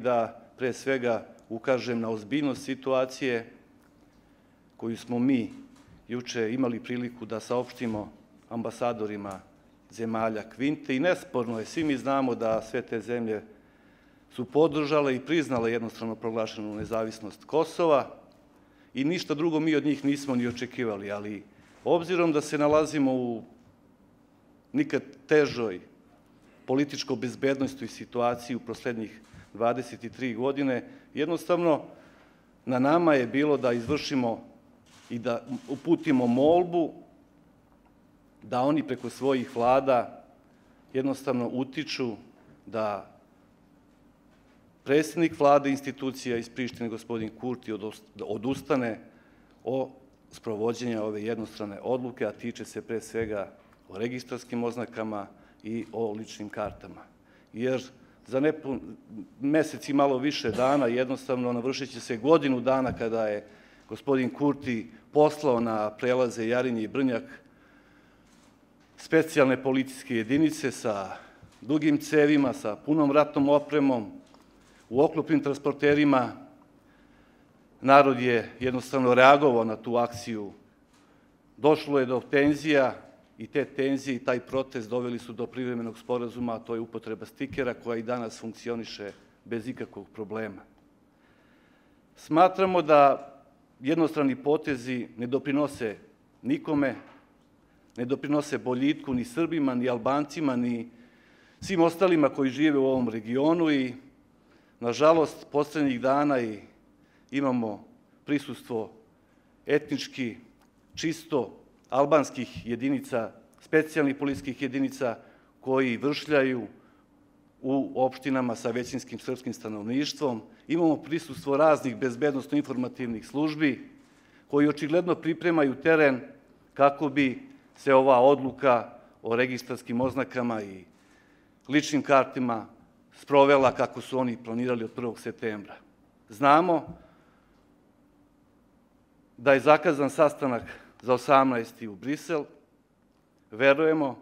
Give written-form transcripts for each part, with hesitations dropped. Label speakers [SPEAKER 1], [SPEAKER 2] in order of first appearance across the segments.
[SPEAKER 1] Da pre svega ukažem na ozbiljnost situacije koju smo mi juče imali priliku da saopštimo ambasadorima zemalja Kvinte i nesporno je, svi mi znamo da sve te zemlje su podržale i priznale jednostrano proglašenu nezavisnost Kosova i ništa drugo mi od njih nismo ni očekivali, ali obzirom da se nalazimo u nikad težoj političko-bezbednostnoj situaciji u poslednjih 23 godine, jednostavno na nama je bilo da izvršimo i da uputimo molbu da oni preko svojih vlada jednostavno utiču da predsjednik vlade institucija iz Prištine, gospodin Kurti, odustane od sprovođenja ove jednostrane odluke, a tiče se pre svega o registarskim oznakama i o ličnim kartama. Jer za mesec i malo više dana jednostavno navršit će se godinu dana kada je gospodin Kurti poslao na prelaze Jarinje i Brnjak specijalne policijske jedinice sa dugim cevima, sa punom ratnom opremom, u oklopnim transporterima. Narod je jednostavno reagovao na tu akciju. Došlo je do tenzija i te tenzije i taj protest doveli su do privremenog sporazuma, a to je upotreba stikera koja i danas funkcioniše bez ikakvog problema. Smatramo da jednostrani potezi ne doprinose nikome, ne doprinose boljitku ni Srbima, ni Albancima, ni svim ostalima koji žive u ovom regionu i, nažalost, poslednjih dana imamo prisustvo etnički čisto albanskih jedinica, specijalnih policijskih jedinica koji vršljaju u opštinama sa većinskim srpskim stanovništvom. Imamo prisustvo raznih bezbednosno-informativnih službi koji očigledno pripremaju teren kako bi se ova odluka o registarskim oznakama i ličnim kartima sprovela kako su oni planirali od 1. septembra. Znamo da je zakazan sastanak za 18. u Brisel. Verujemo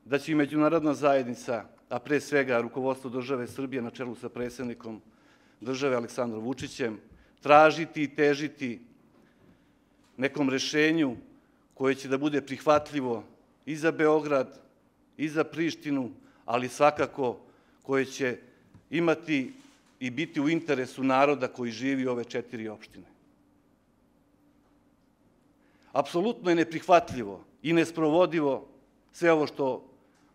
[SPEAKER 1] da će i međunarodna zajednica, a pre svega rukovodstvo države Srbije na čelu sa predsjednikom države Aleksandrom Vučićem, tražiti i težiti nekom rešenju koje će da bude prihvatljivo i za Beograd, i za Prištinu, ali svakako koje će imati i biti u interesu naroda koji živi u ove 4 opštine. Apsolutno je neprihvatljivo i nesprovodivo sve ovo što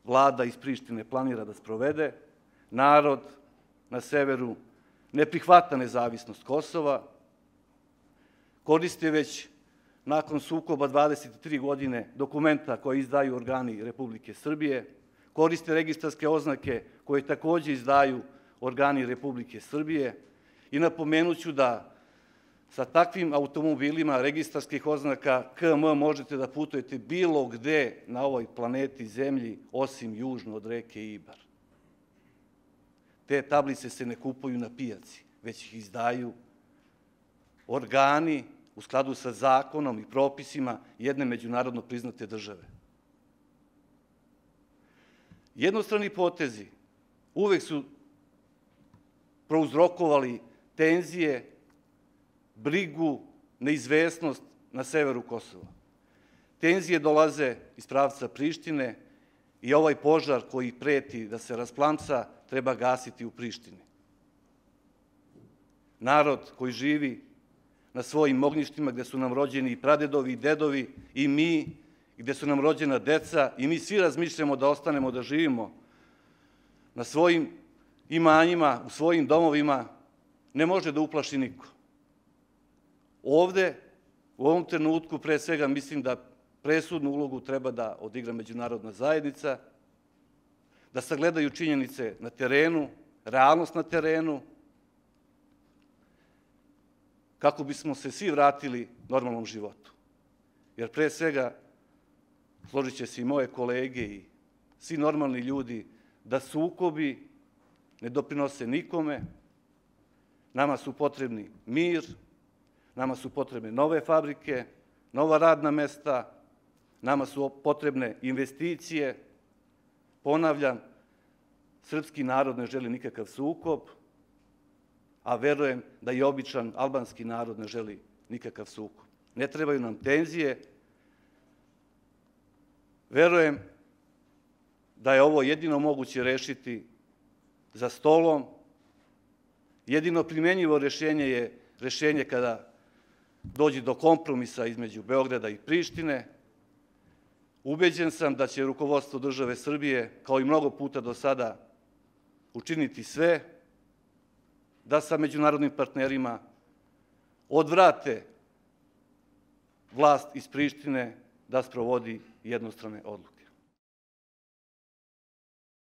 [SPEAKER 1] vlada iz Prištine planira da sprovede. Narod na severu ne prihvata nezavisnost Kosova, koriste već nakon sukoba 23 godine dokumenta koje izdaju organi Republike Srbije, koriste registarske oznake koje takođe izdaju organi Republike Srbije i napomenuću da sa takvim automobilima registarskih oznaka KM možete da putujete bilo gde na ovoj planeti Zemlji osim južno od reke Ibar. Te tablice se ne kupuju na pijaci, već ih izdaju organi u skladu sa zakonom i propisima jedne međunarodno priznate države. Jednostrani potezi uvek su prouzrokovali tenzije, brigu, neizvesnost na severu Kosova. Tenzije dolaze iz pravca Prištine i ovaj požar koji preti da se rasplamsa treba gasiti u Prištini. Narod koji živi na svojim ognjištima gde su nam rođeni i pradedovi i dedovi i mi, gde su nam rođena deca i mi svi razmišljamo da ostanemo da živimo na svojim imanjima, u svojim domovima, ne može da uplaši niko. Ovde, u ovom trenutku, pre svega mislim da presudnu ulogu treba da odigra međunarodna zajednica, da sagledaju činjenice na terenu, realnost na terenu, kako bismo se svi vratili normalnom životu. Jer pre svega, složit će se i moje kolege i svi normalni ljudi, da sukobi ne doprinose nikome, nama su potrebni mir, nama su potrebne nove fabrike, nova radna mesta, nama su potrebne investicije. Ponavljam, srpski narod ne želi nikakav sukob, a verujem da i običan albanski narod ne želi nikakav sukob. Ne trebaju nam tenzije. Verujem da je ovo jedino moguće rešiti za stolom. Jedino primenjivo rešenje je rešenje kada dođe do kompromisa između Beograda i Prištine. Ubeđen sam da će rukovodstvo države Srbije, kao i mnogo puta do sada, učiniti sve da sa međunarodnim partnerima odvrate vlast iz Prištine da sprovodi jednostrane odluke.